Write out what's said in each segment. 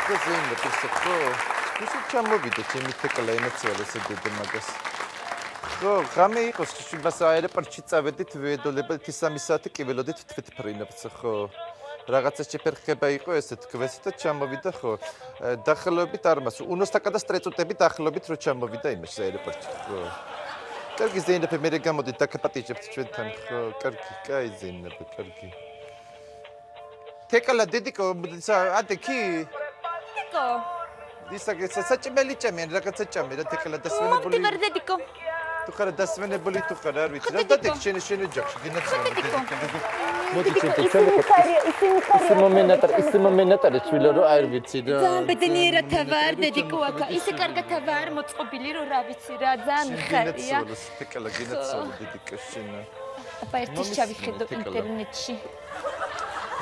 Zeyne pisako. Kuşu çamobide çemitekla emetsiyalese dedi magas. Xame იყოს შუბას აეროპორტში წავედით ვედოლებად 13 საათი კი ველოდით თვითფრინებს ხო რაღაცა შეფერხება იყო ესე თქვეს და ჩამოვიდა ხო დახელობით არმას უნოსტაკა და სტრეწუტებით დახელობით რო ჩამოვიდა იმაში აეროპორტში ხო კარგი ზეინები მე გამოდით დაკაპატიჟებთ ჩვენთან ხო კარგი კაი ზეინები კარგი თეკალა დედიკო ადე კი დედიკო დისაგე საჭმელი ჭამიან რაღაცა ჭამე რა თეკალა დასვენებული მოვდივარ დედიკო Tu ხარ დასვენებული თუ ხარ არ ვიცი რა და შენ ჯახში გინაცნობდი მოდი ის მომენტარი ჩვილო რომ არ ვიცი რა ძალიან ბედნიერად ვარ დედიკო აკა ისე კარგად ვარ მოწყობილი რომ რა ვიცი რა ძალიან ხარია თეკალა გინაცნობდი დედიკო შენ აბა ერთის ჩავიხედო ინტერნეტში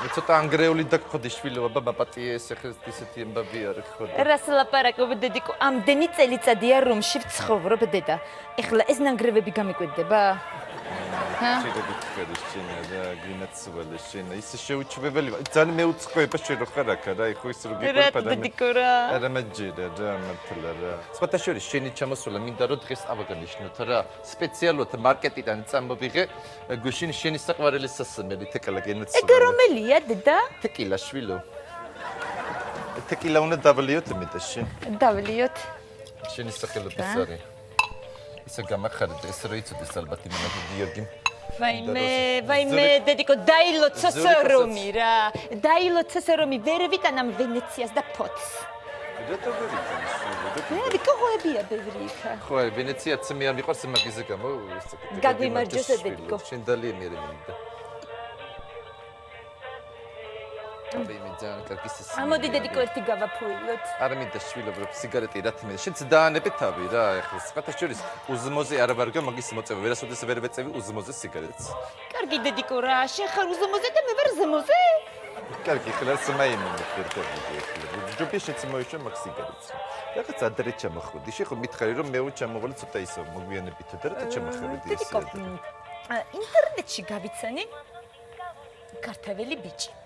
მე ცოტა ანგრეული დაგხოდი შვილო აბა პატიეს ახლა ისეთი ამბავი არის ხო რას ლაპარაკობ დედიკო ამდენი წელიწადია რომში ვცხოვრობ დედა ეხლა ეს ნანგრევები გამიკვეთდება შეიძლება გიქედეს შენ და გინაცვალე შენ ისე შეუჩვეველი ძალიან მეუწყოება შენ რო ხარ აქ რა ეხო ის რო გიყვება დედიკო რა არა მაჯერა რა მართლა რა სხვათა შორის შენი ჩამოსვლა მინდა რომ დღეს ავაგანიშნოთ რა სპეციალურად მარკეტიდან წამოვიღე გუშინ შენი საყვარელი სასმელი თეკალა გინაცვალე ეგ რომელია დედა თეკილა შვილო თეკილა უნდა დავლიოთ მეტაში დავლიოთ შენი სახელობის არის ისე გამახარდა ეს რო იცოდეს ალბათ იმენა გიორგი ვაიმე დედიკო დაილოცა სერომი რა დაილოცა სერომი ვერ ვიტანამ ვენეციას და ფოთს რატო ვერ იტანს დედიკო ხოებია ბევრი იქა ხო ვენეციაც მე არ მიყვარს მაგაზე გამო გაგვიმარჯოს დედიკო შენ დალია მე მინდა აბა მე ძალიან კარგი სისხლი ამოდი დედიკო ერთი გავაფუილოთ არ მინდა შვილობრო სიგარეტი რა თმე შენც დაანებე თავი რა ეხლა სხვათა შორის უზმოზე არა ვარგო მაგის მოწევი ვერასოდეს ვერ ვეწევი უზმოზე სიგარეტს კარგი დედიკო რა შენ ხარ უზმოზე და მე ვარ ზმოზე კარგი ხლა სმაიმენი ფერტები ჯობია შენც მოიშვე მაგ სიგარეტს რაღაც ადრე ჩამოხვედი შენ ხო მითხარი რომ მე ჩამოვალე ცოტა ისო მოგვიანებით და რა ჩამოხვედი ეს ინტერნეტში გავიცანი ქართველი ბიჭი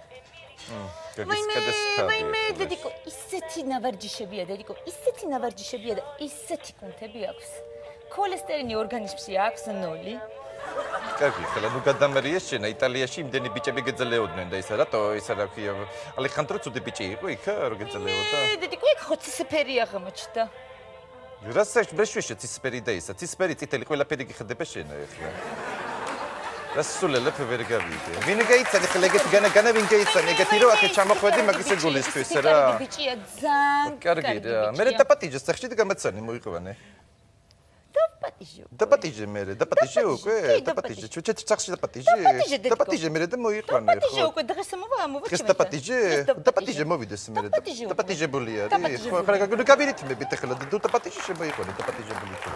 ვაიმე დედიკო ისეთი ნავარჯიშებია დედიკო ისეთი ნავარჯიშებია და ისეთი კუნთები აქვს ქოლესტერინი ორგანიზმში აქვს 0 კარგი ხლა ნუ გადამერია შენა იტალიაში იმდენი ბიჭები გეძლეოდნენ და ისა რატო ისა რა ქვია ალეხანდრო ცუდი ბიჭი იყო იქ რა გეძლეოდა დედიკო იქ ხო ცისფერი აღმოჩნდა რასაც ბეშვეშე ცისფერი და ისა ცისფერი წითელი ყველაფერი გიხდება შენა ეხლა რასულელებ ვერ გავიდე. ვინ გაიცანი ხლა ეგეთი განა ვინ გაიცანი ეგეთი რომ ახლა ჩამოხვედი მაგისე გულისთვის რა. კარგი ბიჭია ძალიან კარგი რა. მე დაპატიჟე სახში და გამაცანი მოიყვანე. დაპატიჟე მე დაპატიჟე უკვე დაპატიჟე ჩუჩეთ სახში დაპატიჟე. დაპატიჟე მე და მოიყვანე ხო. დაპატიჟე უკვე დღეს მოვა დღეს დაპატიჟე. დაპატიჟე მოვიდეს მე დაპატიჟებული არის. ხო ხლა გავირითმებით ახლა და დაპატიჟე შემოიყვანე დაპატიჟებული ხო.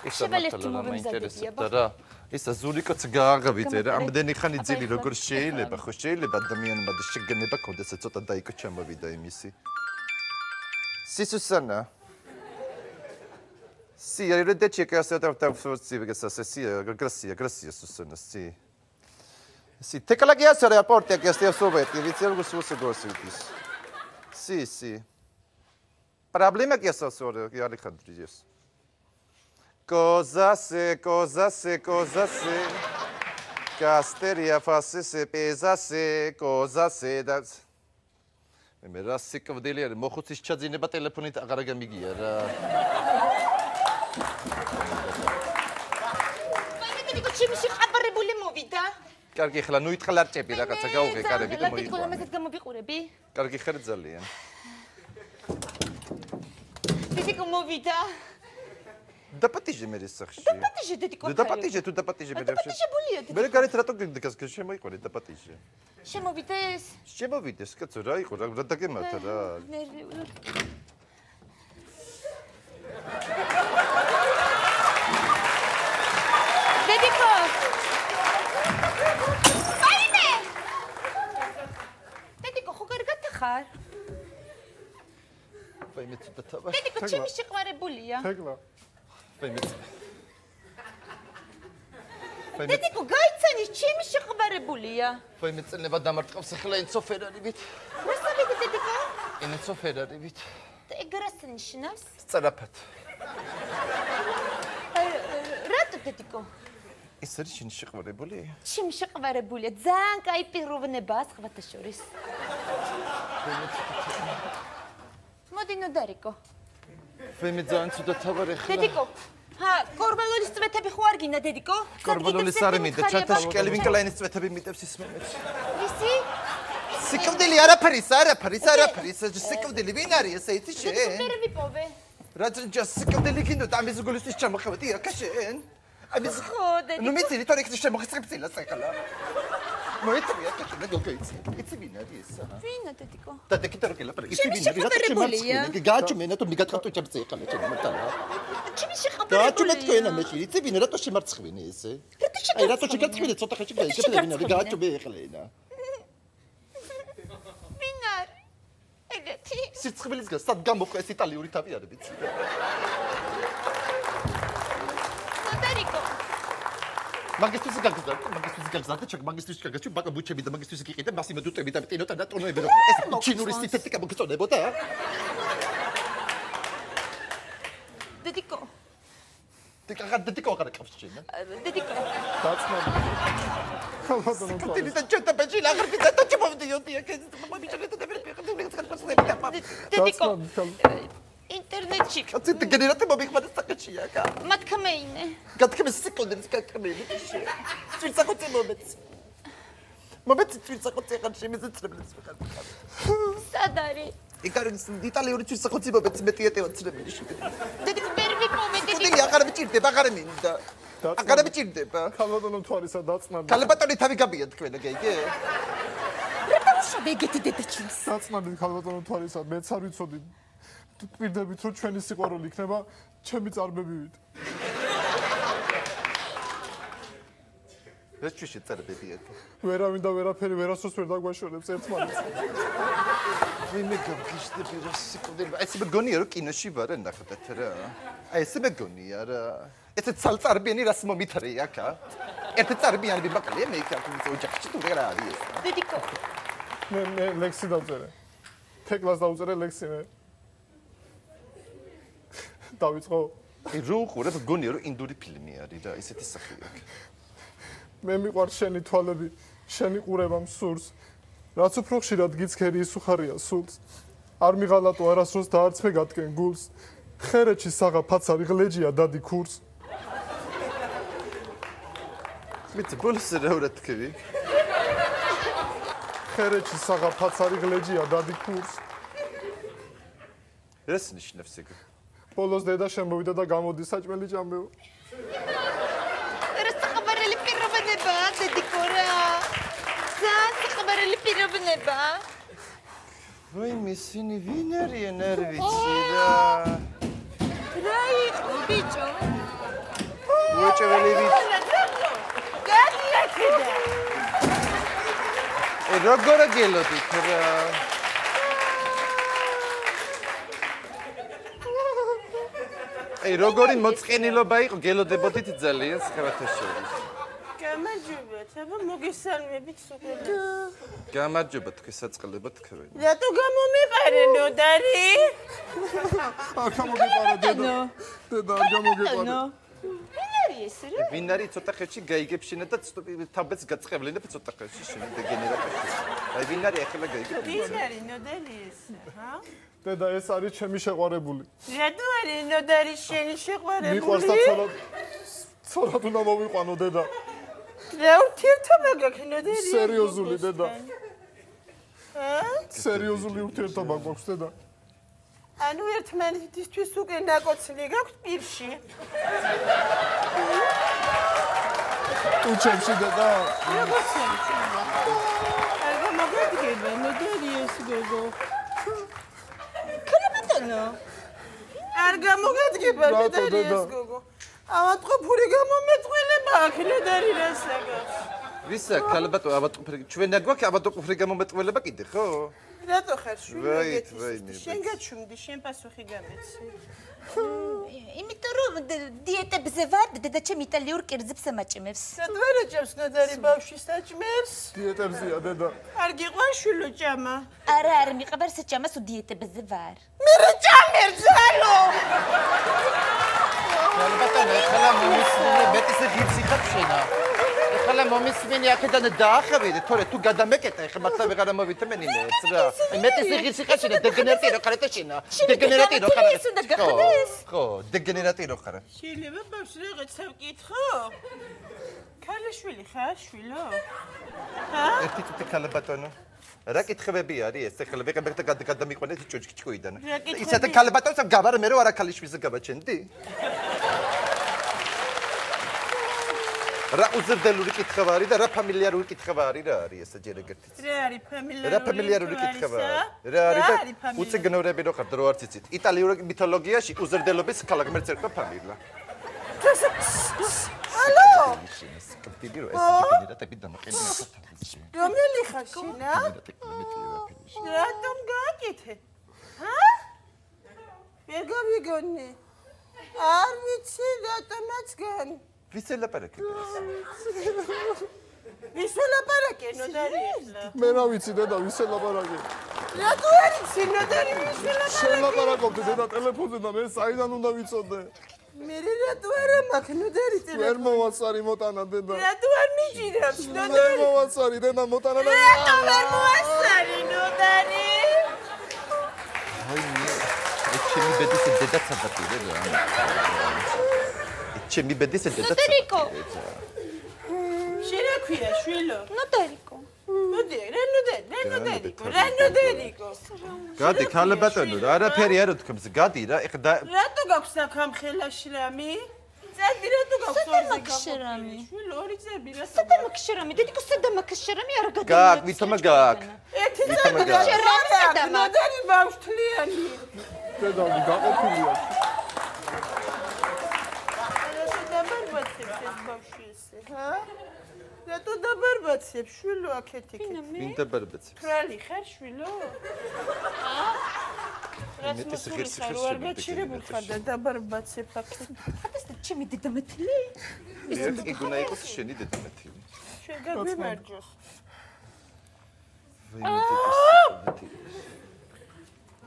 შებელეთი მომემზადებია რა ისა ზურიკოც გააღავიძე რა ამდენი ხანი ძილი როგორ შეიძლება ხო შეიძლება ადამიანმა და შეგნება კონდეს ცოტა დაიკო ჩამოვიდა იმისი სისუსანა Sì, arrivederci che state forse che sta sì, grazie Susana, sì. Sì, te che la chiesa alla porta che stai sopra, che viziamo con suo secondo. Sì, sì. Problema che sta sopra, che Alejandro dice. Cosa se Casteria fasse se pesa se cosa se da მე რა სიკავდელი არის მოხუცის ჩაძინება ტელეფონით აღარ გამიგია რა მე დედიკო ჩემი შეყაბარებული მოვიდა კარგი ხლა ნუ ითხა ლარჭები რაღაცა გაუღე კარები და მოიყვანე დედიკო ამასაც გამოვიყურები კარგი ხარ ძალიან დედიკო მოვიდა დაპატიჟე მე სახში დაპატიჟე დედიკო დაპატიჟე თუ დაპატიჟე მე დაპატიჟებულია დედიკო მე გარეთ რატო გიგდას შემოიყვანე დაპატიჟე შემოვიდეს შემოვიდეს კაცო რა იყო რა დაგემართა რა დედიკო აიმე დედიკო ხო კარგად ხარ ვაიმე ცოტა თავი დედიკო ჩემი შეყვარებულია თეგლა ვაიმე დედიკო, გაიცანი, ჩემი შეყვარებულია. ვაიმე წელება დამარტყავს ახლა ენცო ფერარივით. რასავით დედიკო? ენცო ფერარივით. ეგ რას ნიშნავს? სწრაფად. რატო დედიკო? ის არის შენი შეყვარებული? ჩემი შეყვარებულია, ძალიან კაი პიროვნებაა სხვათა შორის. მოდი ნოდარიკო. ვაიმე ძალიან ცუდა თავარი ხლა. დედიკო, კორბალოლის წვეთები ხო არ გინდა დედიკო? კორბალოლის არ მინდა, ჩათაში კელვინ კლაინის წვეთები მიტევს ის მომეც. ისი? სიკვდილი არაფერი, სიკვდილი ვინ არის ესე იცი შენ? ვერ ვიპოვე. რა სიკვდილი გინდო ამის გულისთვის ჩამოხევდი აქ შენ? ამის ხო დედიკო. ნუ მიცი თორე იქ შემოხსრებცილა საკალა. მოიწვია აქ შენ გოგოიცი. იცი ვინ არის ესა? ვინა დედიკო? და დეკიტარო კელა იცი ვინ არის? რატო შემარცხინე? გააჩუმენა თუ მიგატყავტო ჩემს ეკალა ჩემ მეტალა. ჩემი შეყვარებულია. გააჩუმეთ თქვენა მეში, იცი ვინ რატო შემარცხინე ესე? აი რატო შეგაცხინე ცოტა ხეში გაიგებ ვინ არის? გააჩუმე ეხლა. სიცხვილის გას სად გამოყვა ეს იტალიური თავი არ ვიცი. ნოდარიკო. მაგისტრის გაგზავნა, ჩაკ მაგისტრის გაგაჩვი ბაკა ბუჩები და მაგისტრის იყიდე, მას იმედუტები და ტინოტა და ტონოები რომ ეს ჩინური სინთეტიკა მოგწონებოდა? დედიკო. დედიკო აღარ აკავს შენ. დედიკო. დაცმობ. და ჩოტა ბეჭი აღარ პიცა და ჩმოვდიოდი აქ ეს მომიჭრეთ და ვერ დედიკო. ინტერნეტში. კაცი გენერატორი მომიხმარა საკაჩია კა. მათქმეინე. გათქმე სეკუნდების გათქმეინე. წვირცახოცე მომეც. მომეც წვირცახოცე ხარ შემეცრებელს ვიყავ. სად არის? იქ არის იტალიური წვირცახოცე მომეც მეტი ეტევაცრებელი შეგე. დედიკო ვერ ვიპოვე დედიკო. ხუთილი აღარ მიჭირდება, აღარ მინდა. აღარ მიჭირდება. ქალბატონო თვარისა დაწნადი. ქალბატონი თავი გაბია თქვენ გეიგე? რატო ეგეთი დედაჩვენს? დაწნადი ქალბატონო თვარისა, მეც არ ვიცოდი. პირდებით რომ ჩვენი სიყვარული იქნება ჩემი წარბებივით. ეს ჩვენი წარბები აქ. ვერავინ და ვერაფერი ვერასდროს ვერ დაგვაშორებს ერთმანეთს. ვინმე გაგიშდები რა სიკვდილი. ეს მეგონია რომ კინოში ვარ ნახეთ რა. აი ეს მეგონია რა. ეს ცალწარბიანი რას მომითრე აქ? ერთი წარბიანი ბაკალია მე იქ აქ ოჯახში თუ რა არის ეს? დედიკო. მე ლექსი დავწერე. თეკლას დავწერე ლექსი მე. დავიწყო. აი რო უყურებ გონია რომ ინდური ფილმი არის რა ისეთი სახე აქ. მე მიყვარს შენი თვალები, შენი ყურება მსურს. რაც უფრო ხშირად გიცქერი ის უხარია სულს. არ მიღალატო არასდროს და არც მე გატკენ გულს. ხერეთში საღა ფაცარი ღლეჯია დადი ქურს. მით ბოლოს რა უნდა თქვი? ხერეთში საღა ფაცარი ღლეჯია დადი ქურს. ეს ნიშნავს ეგ. ბოლოს დედა შემოვიდა და გამოდის საჭმელი ჭამბეო. რა საყვარელი პიროვნება დედიკო რა. ძალიან საყვარელი პიროვნება. ვაი მისინი ვინ არიან არ ვიცი რა. რა იყო ბიჭო? უეჭველი ვიცი. გადიაკედა. როგორ გელოდით რა. აი როგორი მოწყენილობა იყო გელოდებოდით ძალიან სხვათა შორის. გამარჯობათ, აბა მოგესალმებით სულ. გამარჯობა თქვენ საწყლებად თქვენ. რატო გამომეყარე ნოდარი? არ გამოგეყარა დედა. დედა არ გამოგეყარა. ვინ არის ეს რა? ვინ არის ცოტა ხეში გაიგებ შენ და თავბეც გაწყევლინებ ცოტა ხეში შენ დეგენერატორი. აი ვინ არის ახლა გაიგებ? ვინ არის ნოდარი ეს? ჰა? დედა ეს არის ჩემი შეყვარებული. რატო არის ნოდარი შენი შეყვარებული? მიყვარს და ცოლად უნდა მოვიყვანო დედა. რა ურთიერთობა გაქვს ნოდარი? სერიოზული დედა. ჰა? სერიოზული ურთიერთობა გვაქვს დედა. ანუ ერთმანეთისთვის უკვე ნაკოცილი გაქვთ პირში? უჩემში დედა. როგორ შეიძლება? არ გამოგადგება ნოდარი ეს გოგო. ქალბატონო. არ გამოგადგება ნოდარი ეს გოგო. ავატყო ფური გამომეწყვილება აქ ნოდარი რასაგავს. ვისა ქალბატო ავატოფრი ჩვენ აგვაქვს ავატოფრი გამომეტყველება კიდე ხო? რატო ხარ შვილი ვაი. შენ გაჩუმდი შენ პასუხი გამეცი იმიტომ რომ დიეტებზე ვარ და დედაჩემ იტალიურ კერძებს ამაჭიმებს. რატო არ აჭამს ნოდარი ბავშვი საჭმელს? დიეტებზია დედა. არ გიყვარს შვილო ჭამა? არა, არ მიყვარს საჭამას დიეტებზე ვარ. მე რა ჭამერ ზალო? ქალბატონო ეხლა მომისმინე მეტისე გიფსი ხაფშენა. ეხლა მომისმინე აქედან დაახევიდე, თორე თუ გადამეკეტა ეხლა მართლა ვეღარ მოვიტმენინეც რა. მეტისე გიფსი ხაფშენა დეგენერატი რო ხარ ეთაშენა. დეგენერატი რო ხარ. ის უნდა გახდეს. ხო, დეგენერატი რო ხარ. შეიძლება ბავშვს რაღაცა ვკითხო? ქალიშვილი ხარ შვილო? ჰა? ერთი წუთი ქალბატონო. რა კითხებები არის ეს? ეხლა ვეღარ გადამიყვანეთ ჭუჭკიჭკუიდან. ისეთი ქალბატონს გავარ მე რო არა ქალიშვილზე გავაჩენდი? რა უზრდელური კითხვა არის და რა ფამილიარული კითხვა არის რა არის ეს ჯერ ეგერთიც? რა არის ფამილიარული? რა ფამილიარული კითხვა არის? რა არის და უციგნურები რო ხართ რო არ ციცით? იტალიური მითოლოგიაში უზრდელობის ქალაქმერც ერქვა ფამილია. ალო? კაფტიბი რო ეს დინერატები დამაყენია სათავეში. რომელი ხარ შინა? რატომ გააკეთე? ჰა? ვერ გავიგონი. არ ვიცი რატომაც გან. ვის ელაპარაკებს? ვის ელაპარაკე ნოდარი ახლა? მე რა ვიცი დედა ვის ელაპარაკე. რატო არ იცი ნოდარი ვის ელაპარაკე? შელაპარაკობდი დედა ტელეფონზე და მე საიდან უნდა ვიცოდე. მე რატო არ მაქვს ნოდარი ვერ ტელეფონი? მოვაცარი მოტანა დედა. რატო არ მიჭირავს ვერ ნოდარი? მოვაცარი დედა მოტანა და რატო ვერ მოასწარი ნოდარი? აი ჩემი ბედის დედაც ადაპირე რა. ჩემი ბედის დედაც. ნოდარიკო. შენ რა ქვია შვილო? ნოდარიკო. რანოდერიკო. გადი ქალბატონო რა არაფერი არ უთქმს გადი რა ეხლა რატო გაქვს აქ ამ ხელაში რამი? წადი რატო გაქვს შერამი. შვილო ორი წები რა სადამაკ შერამი დედიკო სადამაკ შერამი არ გადაიწყო. გაკ ვითომა გაკ ერთი ვითომა წები გაკ შერამი სადამაკ. ნოდარი ბავშვთლიანი. დედა გაყოფილია. რატო დაბარბაცებს ეს ბავშვი ესე, ჰა? რატო დაბარბაცებს შვილო აქეთ-იქ? ვინ დაბარბაცებს? ფრალი ხარ შვილო? რაც მოსული ხარ, არ გაჩირებულ ხარ და დაბარბაცებ აქეთ. ხატასთან ჩემი დედამეთილი. ერთი გუნა იყოს შენი დედამეთილი. შენ გაგვიმარჯოს.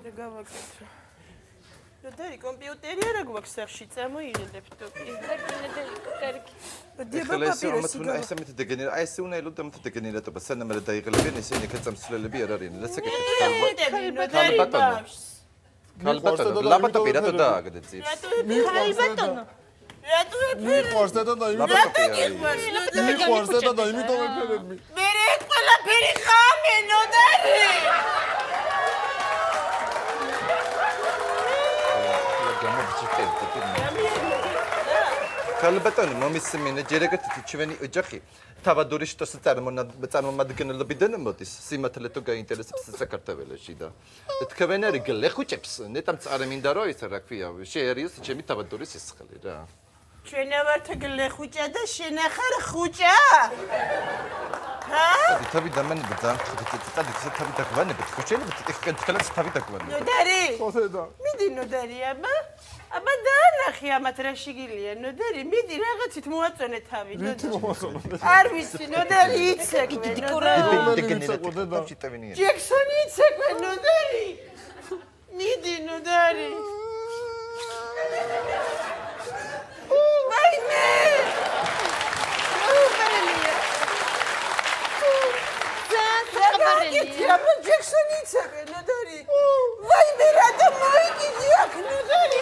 რა გავაკეთე? ნოდარი კომპიუტერი არა გვაქვს სახში, წამოიღე ლეპტოპი. კარგი. ეხლა ეს ამათ უნდა ეს ამით დეგენერა აი ეს უნდა ელოდა ამით დეგენერატობა სანამ რა დაიღლებიან ესენი კაცამცლელები არ არიან რა საკეთებს ქალბატონო. ქალბატონო ლაპტოპი რატო დააგდე ძირს ქალბატონო. რატო მიყვარს დედა და იმიტომ მიყვარს დედა და იმიტომ ეფერები. მე ყველაფერი ხამე ნოდარი. ქალბატონო მომისმინე ჯერ ეგეთი ჩვენი ოჯახი თავადური შტოს წარმომადგენლობიდან მოდის სიმართლე თუ გაინტერესებს საქართველოში და თქვენ არის გლეხუჭებს ნეტამ წარემინდა რო ის რა ქვია შეერიოს ჩემი თავადური სისხლი რა ჩვენ ვართ გლეხუჭა და შენ ახარ ხუჭა? ჰა? თავი დამანებდა ძალიან თავი დაგვანებთ ხუჭელებით ეხლა თავი დაგვანებთ ნოდარი? ხო დედა. მიდი ნოდარი აბა დაანახი ამათ რა შიგილია ნოდარი მიდი რაღაცით მოაწონე თავი ნოდარი არ ვიცი ნოდარი იცეკვე დეგენერატი ჯექსონი იცეკვე ნოდარი მიდი ნოდარი ვაიმე აბა ჯექსონი იცეკვე ნოდარი ვაიმე რატო მოიგიდი აქ ნოდარი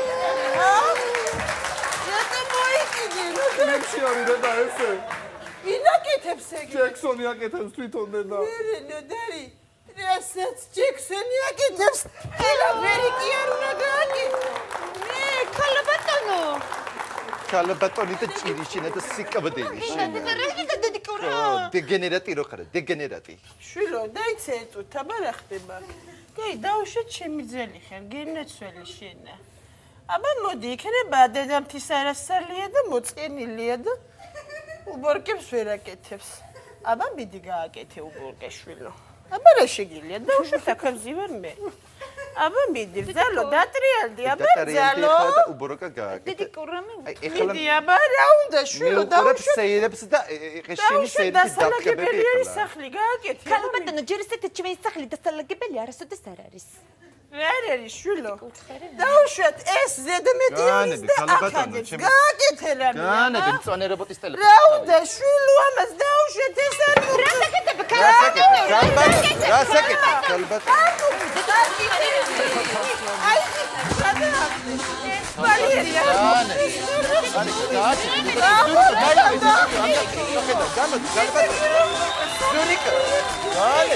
ლექსი არის დედა ესე. ვინ აკეთებს ეგ? ჯექსონი აკეთებს თვითონ დედა. მე ნოდარი რასაც ჯექსონი აკეთებს ყველაფერი კი არ უნდა გააკეთო. მე ქალბატონო. ქალბატონი და ჭირიშინა და სიკაბდელი შენა რა დედიკო რა. დეგენერატი რო ხარ დეგენერატი შვილო დაიცე ეტუთ აბა რა ხდება? კაი დაუშვე ჩემი ძელი ხარ გენაცველი შენა. აბა მოდი იქნება დედამთის არასწალია და მოწყენილია და უბორკებს ვერ აკეთებს. აბა მიდი გააკეთე უბურგეშვილო. აბა რა შეგიძლია? დაუშვათ აქებზე ვარ მე. აბა მიდი, ბრძალო, დატრიალდი, აბა ბრძალო. და უბურგა გააკეთე. დიდი კურამი. მიდი, აბა რა უნდა შვილო, დაუშვათ. სეირებს და ეყეშენი სეირების დაფქებები ეს სახლი გააკეთე. ქალბატონო, ჯერ ისეთი ჩვენი სახლი დასალაგებელი არასოდეს არ არის. რა არის შვილო? დაუშვათ ეს ზედმედიანის და ახალებს გააკეთე რა. განები მწვანე რობოტის ტელეფონი. რა უნდა შვილო ამას დაუშვათ ეს არ რა საკეთებ ქალბატონო, რა საკეთებ ქალბატონო? აი, სპალიერია. Dale,